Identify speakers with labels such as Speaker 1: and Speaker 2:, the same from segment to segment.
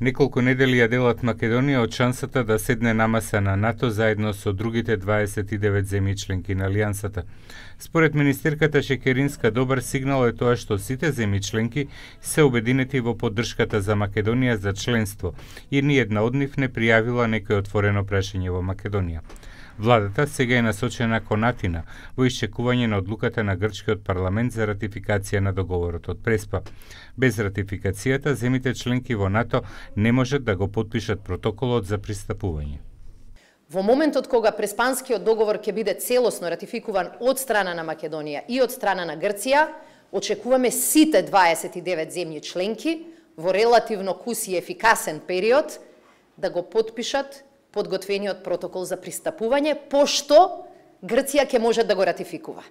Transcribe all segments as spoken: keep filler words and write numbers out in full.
Speaker 1: Неколку недели ја делат Македонија од шансата да седне на маса на НАТО заедно со другите дваесет и девет земји членки на Алијансата. Според министерката Шекеринска, добар сигнал е тоа што сите земји членки се обединети во поддршката за Македонија за членство и ниедна од нив не пријавила некој отворено прашање во Македонија. Владата сега е насочена кон Атина во исчекување на одлуката на грчкиот парламент за ратификација на договорот од Преспа. Без ратификацијата, земите членки во НАТО не можат да го потпишат протоколот за пристапување.
Speaker 2: Во моментот кога Преспанскиот договор ќе биде целосно ратификуван од страна на Македонија и од страна на Грција, очекуваме сите дваесет и девет земји членки во релативно кус и ефикасен период да го потпишат подготвениот протокол за пристапување, пошто Грција ќе може да го ратификува.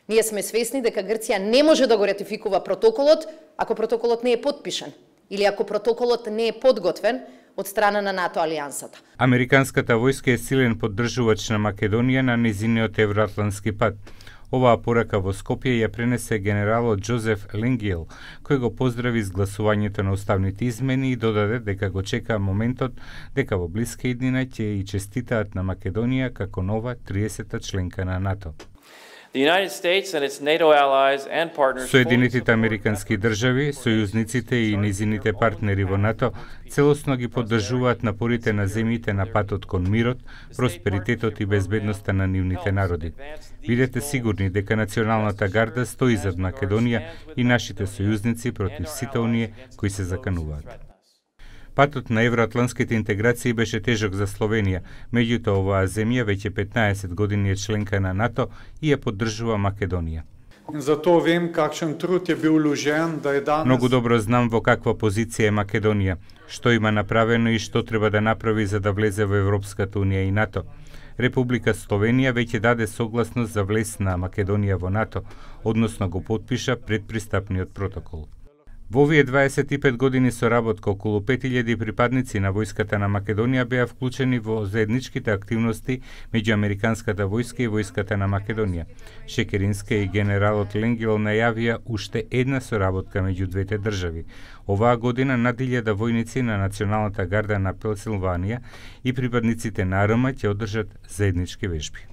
Speaker 2: Ние сме свесни дека Грција не може да го ратификува протоколот ако протоколот не е потпишан или ако протоколот не е подготвен од страна на НАТО алијансата.
Speaker 1: Американската војска е силен поддржувач на Македонија на низиниот евроатлантски пат. Оваа порака во Скопје ја пренесе генералот Джозеф Ленгиел, кој го поздрави изгласувањето на уставните измени и додаде дека го чека моментот дека во блиска иднина ќе и честитаат на Македонија како нова триесета членка на НАТО. Соединетите американски држави, сојузниците и низините партнери во НАТО целосно ги поддржуваат напорите на земјите на патот кон мирот, просперитетот и безбедноста на нивните народи. Бидете сигурни дека Националната гарда стои зад Македонија и нашите сојузници против сите оние кои се закануваат. Патот на евроатлантските интеграции беше тежок за Словенија, меѓутоа оваа земја веќе петнаесет години е членка на НАТО и ја поддржува Македонија.
Speaker 3: Затоа вем какшен труд е бил уложен да е данес.
Speaker 1: Многу добро знам во каква позиција е Македонија, што има направено и што треба да направи за да влезе во Европската унија и НАТО. Република Словенија веќе даде согласност за влез на Македонија во НАТО, односно го потпиша предпристапниот протокол. Во овие дваесет и пет години соработка околу пет илјади припадници на војската на Македонија беа вклучени во заедничките активности меѓу американската војска и војската на Македонија. Шекеринска и генералот Ленгиел најавија уште една соработка меѓу двете држави. Оваа година над илјада војници на Националната гарда на Пенсилванија и припадниците на АРМА ќе одржат заеднички вежби.